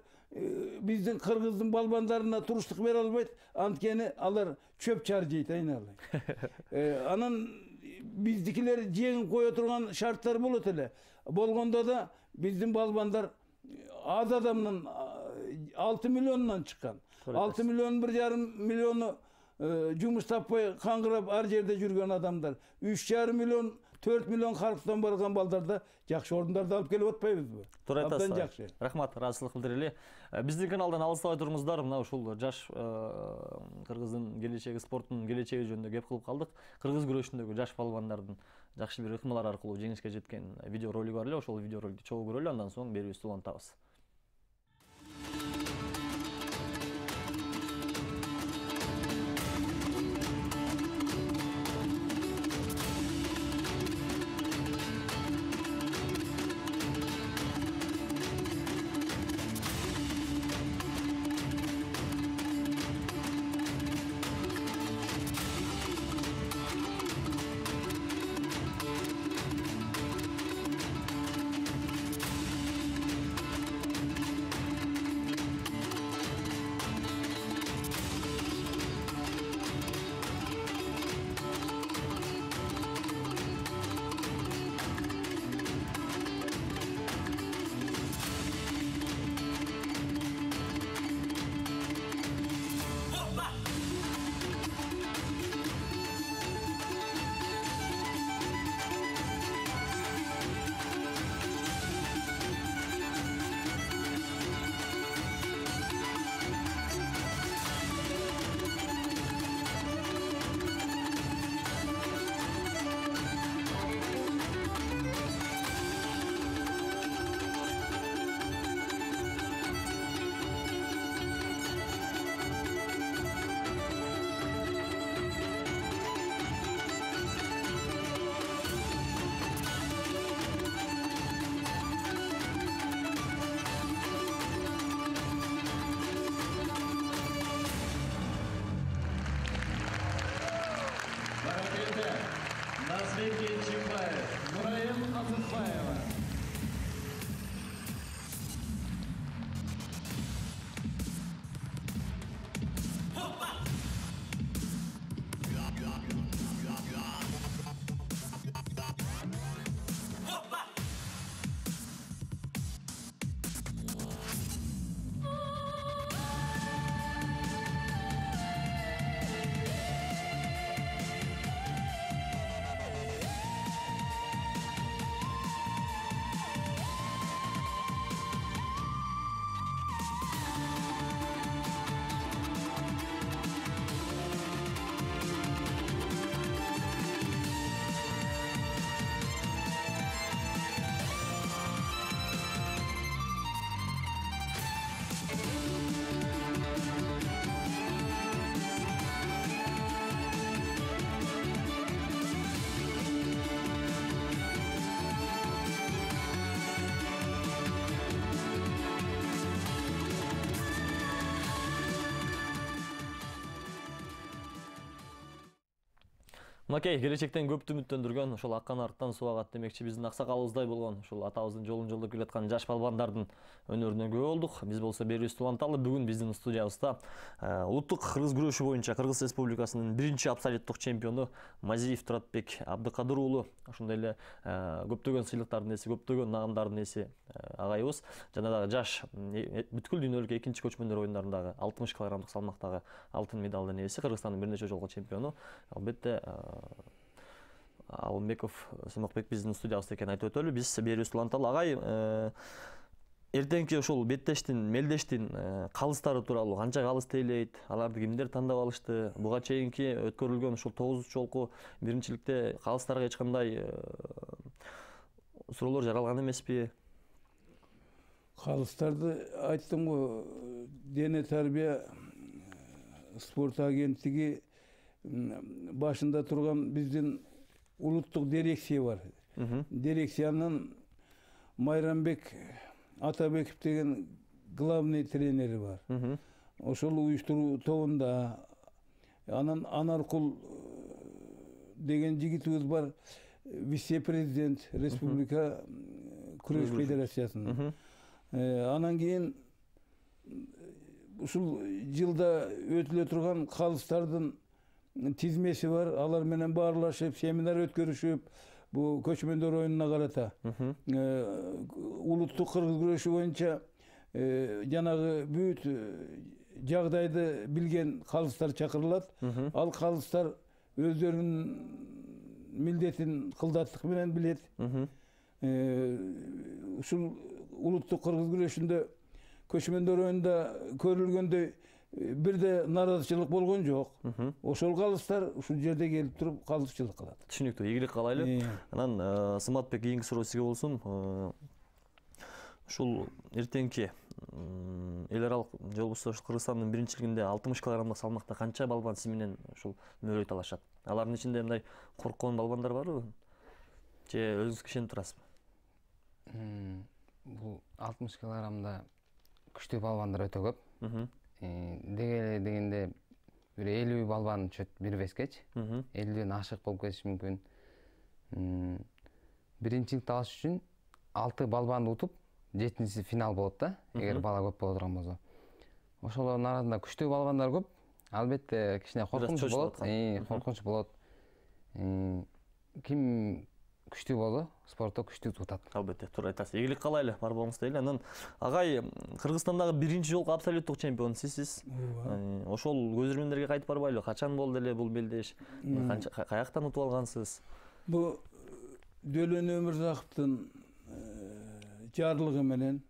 биздин кыргыздын балбандарына туруштук бере албайт, анткени алар чөп чаржайт айналай. Анан биздикилер жеңип кое турган шарттар болот эле. Болгондо да биздин балбандар аз адамдын алты миллионнан чыккан. алты миллион бир жарым миллиону жумуш таппай каңгырап ар жерде жүргөн адамдар. үч жарым миллион төрт миллион халктан барган балдарда жакшы орундарда алып келип атпайбызбы? Туура айтасыз. Рахмат, ыраазычылык билдирели. Биздин каналдан алыстабай туруңуздар. Мына ушул жаш кыргыздын келечеги, спорттун келечеги жөнүндө кеп кылып калдык. Кыргыз күрөшүндөгү жаш балбандардын жакшы бир ыкмалар аркылуу жеңишке жеткен видео ролик бар эле. Ошол видео роликти чогуу көрөлү, андан соң берүүбүздү улантабыз. Мынакей келечектен көптү үмүттөндүргөн, ошол аккан арыктан суу агат демекчи биздин аксакалыбыздай болгон, ушул атабыздын жолун жолдоп келаткан жаш балбандардын өнөрүнө күбө болдук. Биз болсо берүүбүздү уланталы. Бүгүн биздин студиябызда улуттук кыргыз күрөшү боюнча Кыргыз Республикасынын биринчи абсолюттук чемпиону Мазиев Туратбек Абдыкадыр уулу, ошондой эле көптөгөн сыйлыктардын ээси, көптөгөн нагымдардын ээси агайыбыз. Жана дагы жаш бүткүл дүйнөлүк экинчи көчмөндөр оюндарындагы алтымыш килограммдык салмактагы алтын медалдын ээси, Кыргызстандын бир нече жолку чемпиону. Албетте Алымбеков Сымыкбек биздин студиябызда экенин айтып өтөлү. Биз берүүбүздү уланталы. Агай, эртеңки ошол беттештин, мелдештин калыстары тууралуу канча калыс тейлейт, аларды кимдер тандап алышты, буга чейинки өткөрүлгөн ушул тогуз жолку биринчиликте калыстарга эч кандай суроолор жаралган эмеспи? Калыстарды айттым го, дене тарбия спорт агенттиги башында турган биздин улуттук дирекция бар. Дирекциянын Майрамбек Атабеков деген главный тренери бар. Ошол уюштуруу тобунда анан Анаркул деген жигитибиз бар, вице-президент Республика күрөш федерациясынын. Анан кийин ушул жылда өтүлө турган калыстардын тизмеси бар. Алар менен баарлашып, семинар өткөрүшүп, бу көчмөндөр оюнуна карата улуттук кыргыз күрөшү боюнча жанагы бүт жагдайды билген калыстар чакырылат. Ал калыстар өздөрүнүн милдетин кылдаттык менен билет. Ушул улуттук кыргыз күрөшүндө көчмөндөр оюнунда көрүлгөндөй бирде наразычылык болгон жок. Ошол калыстар ушул жерде келип туруп калысчылык кылат. Түшүнүктүү, ийгилик каалайлы. Анан Сыматбек, кийинки суроо сизге болсун. Ушул эртеңки эл аралык жолбосо ушул Кыргызстандын биринчилигинде алтымыш килограммдык салмакта канча балбан сиз менен ушул мөөрөй талашат? Алардын ичинде мындай корккон балбандар барбы? Же өзүңүз ишенип турасызбы? Бул алтымыш килограммда күчтүү балбандар өтө көп. Деге дегенде бир элүү балбан чөт бир вескечи. элүүдөн ашык болуп кетиши мүмкүн. Биринчиликти алыш үчүн алты балбанды утуп, жетинчиси финал болот да, эгер бала көп боло турган болсо. Ошолордун арасында күчтүү балбандар көп. Албетте кичине коркунуч болот. Коркунуч болот. Ким күчтүү болсо, спортто күчтүү утат. Албетте, туура айтасыз. Ийгилик каалайлы, бар болуңуз дейли. Анан агай, Кыргызстандагы биринчи жолку абсолюттук чемпион сизсиз. Ошол көзөрмөндөргө кайтып барбайлы? Качан болду эле бул белдеш? Каяктан утуп алгансыз? Бу Дөлөн Өмүрзаковдун жарлыгы менен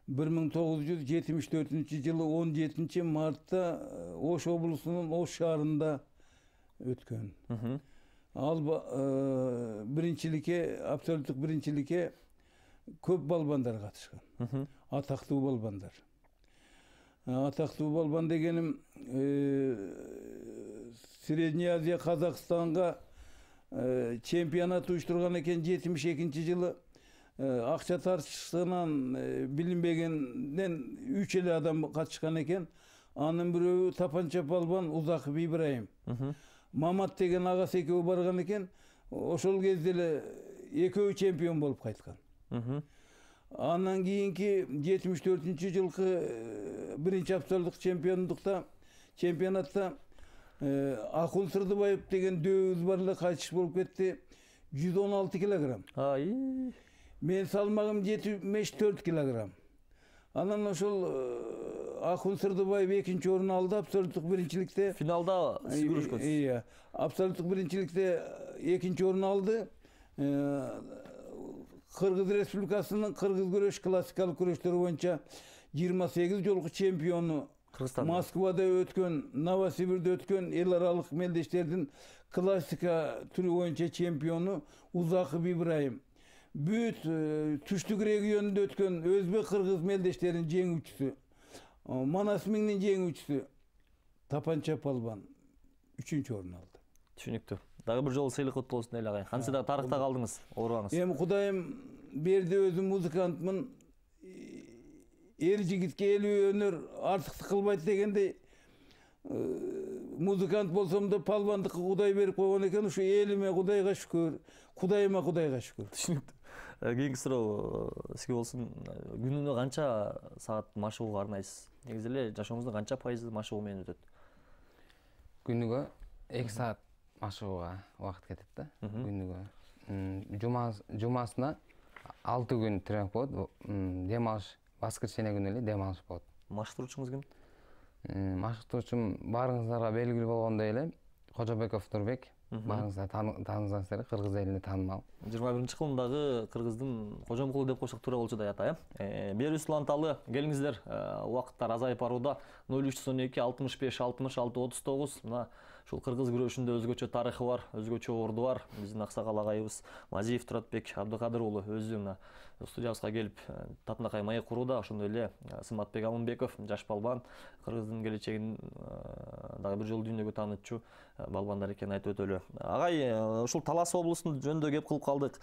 бир миң тогуз жүз жетимиш төртүнчү жылы он жетинчи мартта Ош облусунун Ош шаарында өткөн. Ал биринчиликке, абсолюттук биринчиликке көп балбандар катышкан. Атактуу балбандар. Атактуу балбан дегеним Средняя Азия, Казакстанга чемпионат уюштурган экен жетимиш экинчи жылы. Акча тартышынан билинбегенден үч эле адам катышкан экен. Анын бирөө тапанча балбан Узаков Ибраим. Мамат деген агасы экөө барган экен. Ошол кезде эле экөө чемпион болуп кайткан. Андан кийинки жетимиш төртүнчү жылкы биринчи абсолюттук чемпиондукта, чемпионатта Акун Сырдыбаев деген дөбүбүз бар эле, кайтыш болуп кетти. жүз он алты килограмм. Ай. Мен салмагым жетимиш төрт килограмм. Анан ошол Акун Сырдыбаев экинчи орун алды абсолюттук биринчиликте. Финалда сиз күрөшкөнсүз. Ия, абсолюттук биринчиликте экинчи орун алды. Кыргыз Республикасынын кыргыз күрөш классикалык күрөштөр боюнча жыйырма сегиз жолку чемпиону, Москвада өткөн, Новосибирде өткөн эл аралык мелдештердин классика түрү боюнча чемпиону Узаков Ибраим. Бүт түштүк регионунда өткөн өзбек кыргыз мелдештеринин жеңүүчүсү, Манас миңдин жеңүүчүсү Тапанча балбан үчүнчү орун алды. Түшүнүктүү. Дагы бир жолу сыйлык куттуу болсун эле агай. Кантсе да тарыхта калдыңыз, оорубаңыз. Эми Кудайым берди, өзүм музыкантмын. Эр жигитке элүү өнөр артыктык кылбайт дегендей музыкант болсом да палбандыкка Кудай берип койгон экен. Ушу элиме Кудайга шүкүр, Кудайыма Кудайга шүкүр. Түшүнүктүү. Кийинки суроо сизге болсун. Күнүнө канча саат машыгууга арнайсыз? Негизи эле жашооңуздун канча пайызы машыгуу менен өтөт? Күнүгө эки саат машыгууга убакыт кетет да. Күнүгө. Жума жумасына алты күн тренинг болот. Дем алыш, воскресенье күнү эле дем алыш болот. Машыктыруучуңуз ким? Машыктыруучум баарыңыздарга белгилүү болгондой эле Кожобеков Нурбек. Баарыңыздар тааныгыңыздар эле, кыргыз элине таанымал. жыйырма биринчи кылымдагы кыргыздын Кожомкулу деп койсок туура болчу да ата, э. Берүүбүз уланталы, келиңиздер, убакыттар азайып барууда. ноль үч жүз он эки алтымыш беш алтымыш алты отуз тогуз. Мына ушул кыргыз күрөшүндө өзгөчө тарыхы бар, өзгөчө орду бар. Биздин аксакал агайыбыз Мазиев Туратбек Абдыкадыр уулу өзү мына студиябызга келип Татынакай маек курууда. Ошондой эле Сыматбек Амынбеков, жаш балбан, кыргыздын келечегин дагы бир жолу дүйнөгө таанытчу балбандар экенин айтып өтөлү. Агай, ушул Талас облусунун жөнүндө кеп кылып калдык.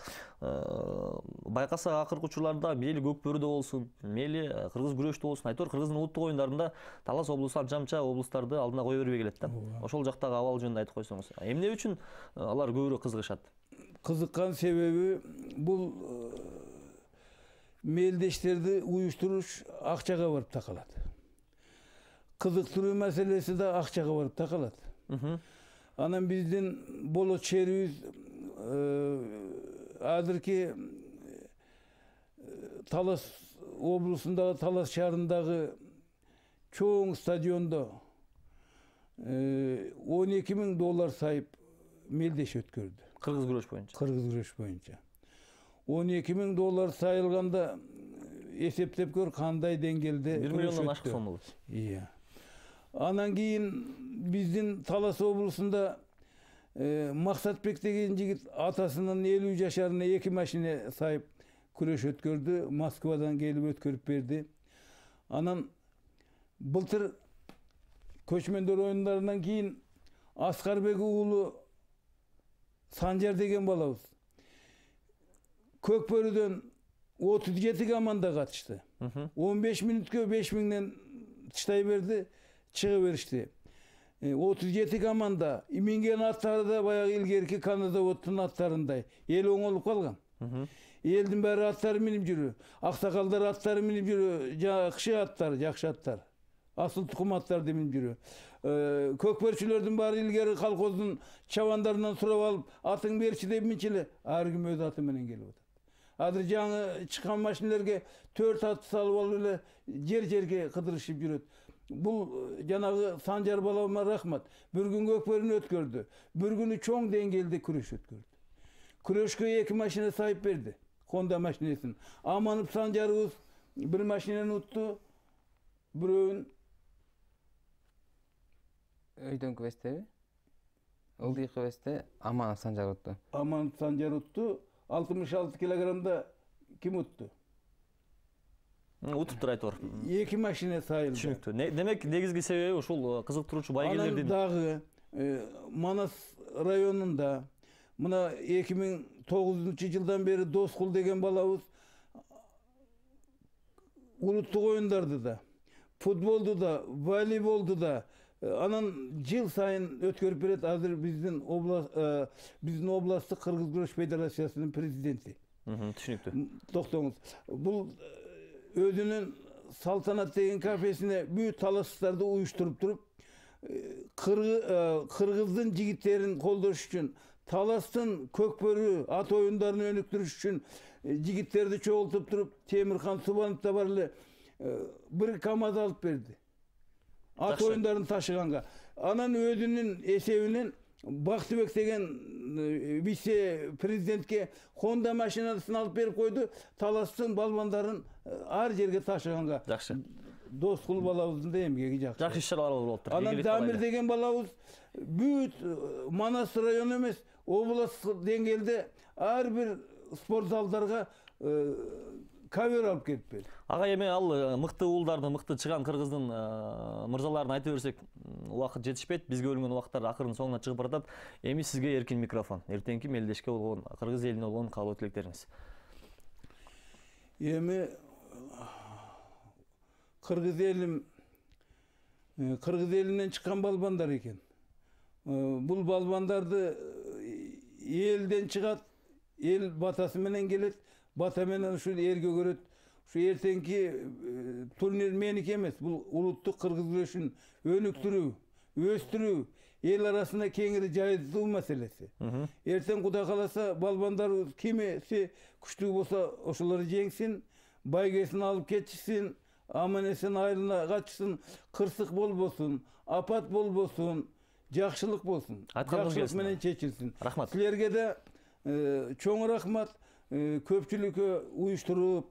Байкасак акыркы учурларда мейли Көкбөрүдө болсун, мейли кыргыз күрөштө болсун, айтор кыргыздын улуттук оюндарында Талас облусу анча-мынча облустарды алдына кое бербей келет да. Ошол жактагы абал жөнүндө айтып койсоңуз. Эмне үчүн алар көбүрөөк кызыгышат? Кызыккан себеби бул мелдештерди уюштуруш акчага барып такалат. Кызыктыруу маселеси да акчага барып такалат. Анан биздин болот шээрибиз азыркы Талас облусундагы Талас шаарындагы чоң стадиондо он эки миң доллар сайып мелдеш өткөрдү. Кыргыз күрөш боюнча. Кыргыз күрөш боюнча. он эки миң доллар сайылганда эсептеп көр кандай деңгээлде. бир миллиондон ашык сом болот. Iya. Анан кийин биздин Талас облусунда Максатбек деген жигит атасынын элүү жашарына эки машина сайып күрөш өткөрдү. Москвадан келип өткөрүп берди. Анан былтыр көчмөндөр оюндарынан кийин Аскарбек уулу Санжар деген балабыз Көкбөрүдөн отуз жети команда катышты. он беш мүнөткө беш миңден тыштай берди, чыга беришти. отуз жети команда, минген аттары да баягы илгерки Канадаботтун аттарындай. Эл оңолуп калган. Элдин баары аттары минип жүрү. Аксакалдар аттары минип жүрү, жакшы аттар, жакшы аттар. Асыл тукум аттарды минип жүрү. Көкбөрчүлөрдүн баары илгери колхоздун чабандарынан сурап алып, атың берчи деп минчи эле, ар ким өз аты менен келип атат. Азыр жаңы чыккан машинелерге төрт ат салып алып эле жер-жерге кыдырышып жүрөт. Бул жанагы Санжар балама рахмат. Бир күн Көкбөрүнү өткөрдү. Бир күнү чоң деңгээлде күрөш өткөрдү. Күрөшкө эки машина сайып берди. Honda машинесин. Аманып Санжарыбыз бир машинени утту. Бирөөнүн өйдөн квестеби? Ылдый квестте Аманов Санжар утту. Аманов Санжар утту. алтымыш алты килограммда ким утту? Утуп тур айтор. эки машина сайылды. Түшүнүктүү. Демек негизги себеби ушул кызыктыруучу байгелердин. Анан дагы Манас районунда мына эки миң тогузунчу жылдан бери Доскул деген балабыз улуттук оюндарды да, футболду да, волейболду да анан жыл сайын өткөрүп берет. Азыр биздин област биздин областтык кыргыз күрөш федерациясынын президенти. Түшүнүктүү. Токтоңуз. Бул өзүнүн Салтанат деген кафесине бүт талаштарды уюштуруп туруп, кыргыздын жигиттерин колдош үчүн, Таластын Көкбөрү ат оюндарын өнүктүрүш үчүн жигиттерди чогултуп туруп, Темирхан Субанов да бар эле бир КамАЗ алып берди. Ат оюндарын ташыганга. Анан өзүнүн эсебинен Бактыбек деген вице президентке Honda машинасын алып берип койду. Таластын балбандарын ар жерге ташыганга. Жакшы. Доскул балабыздын да эмгеги жакшы. Жакшы иш-чаралар болуп атат. Анан Дамир деген балабыз бүт Манас району эмес, областтык деңгээлде ар бир спорт залдарга кавер алып келип берди. Ага эми ал мыкты уулдарды, мыкты чыган кыргыздын мырзаларын айта берсек, убакыт жетишпейт. Бизге бөлүнгөн убакыттар акырын соңуна чыгып баратат. Эми сизге эркин микрофон. Эртеңки мелдешке болгон, кыргыз элине болгон каалоо тилектериңиз. Эми кыргыз элим кыргыз элинен чыккан балбандар экен. бул балбандарды элден чыгат, эл батасы менен келет, бата менен ушул элге көрөт. Ушу эртеңки турнир меники эмес, бул улуттук кыргыз күрөшүн өнүктүрүү, өстүрүү, эл арасында кеңири жайылтуу маселеси. Эртең Кудай кааласа балбандарыбыз кимиси күчтүү болсо ошолорду жеңсин, байгесин алып кетишсин, аман эсен айылына качсын, кырсык болбосун, апат болбосун, жакшылык болсун. Жакшылык менен чечилсин. Рахмат. Силерге да чоң рахмат. Көпчүлүккө уюштуруп,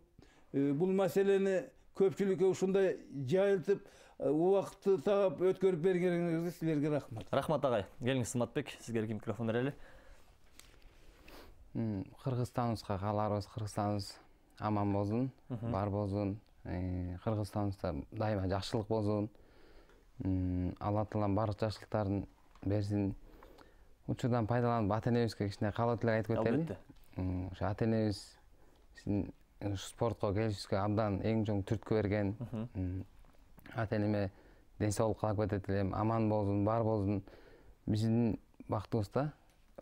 бул маселени көпчүлүккө ушундай жайылтып, убакытты таап өткөрүп бергениңизге силерге рахмат. Рахмат агай. Келиңиз Сыматбек, сизге эркин микрофон берели. Кыргызстаныбызга кааларыбыз Кыргызстаныбыз аман болсун, бар болсун. Кыргызстаныбызда дайыма жакшылык болсун. Алла Таалам барлык жакшылыктарын берсин. Учурдан пайдаланып ата энебизге кичине каалоо тилек айтып кетели. Албетте. Ошо ата энебиз биздин спортко келишибизге абдан эң чоң түрткү берген. Ата энеме ден соолук каалап кетет элем, аман болсун, бар болсун. Биздин бактыбызда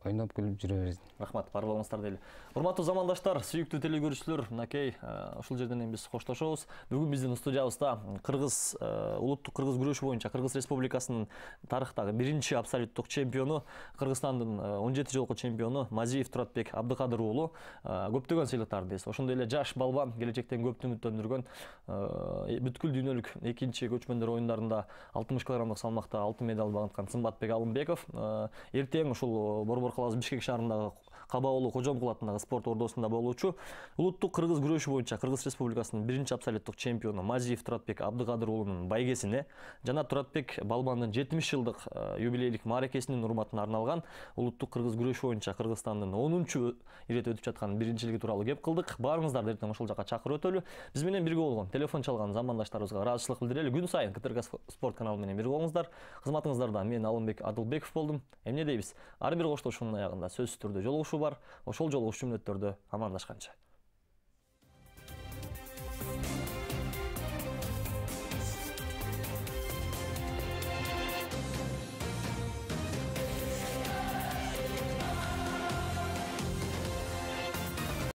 ойноп күлүп жүрө берсин. Рахмат, бар болуңуздар дейли. Урматтуу замандаштар, сүйүктүү телегөрүүчүлөр, мынакей ушул жерден эми биз коштошобуз. Бүгүн биздин студиябызда Кыргыз улуттук кыргыз күрөшү боюнча Кыргыз Республикасынын тарыхтагы биринчи абсолюттук чемпиону, Кыргызстандын он жети жолку чемпиону Мазиев Туратбек Абдыкадыр уулу көптөгөн сыйлыктарды эс. Ошондой эле жаш балбан, келечектен көптү үмүттөндүргөн бүткүл дүйнөлүк экинчи көчмөндөр оюндарында алтымыш килограммдык салмакта алтын медаль багынткан Сымбатбек Алымбеков эртең ушул Борбор каласы Бишкек шаарындагы Кабаулу Кожомкул атындагы спорт ордосунда болуучу улуттук кыргыз күрөшү боюнча Кыргыз Республикасынын биринчи абсолюттук чемпиону Мазиев Туратбек Абдыкадыр уулунун байгесине жана Туратбек балбандын жетимиш жылдык юбилейлик мааракесинин урматына арналган улуттук кыргыз күрөшү боюнча Кыргызстандын онунчу ирет өтүп жаткан биринчилиги тууралуу кеп кылдык. Баарыңыздарды эртең ошол жака чакырып өтөлү. Биз менен бирге болгон телефон чалган замандаштарыбызга ыраазычылык билдирели. Күн сайын КТРК спорт каналы менен бирге болуңуздар. Кызматыңыздарда мен Алымбек Адылбеков болдум. Эмне дейбиз? Ар бир коштошуунун аягында сөзсүз түрдө жолугушуу бар. Ошол жолугушуу мүнөттөрдө амандашканча.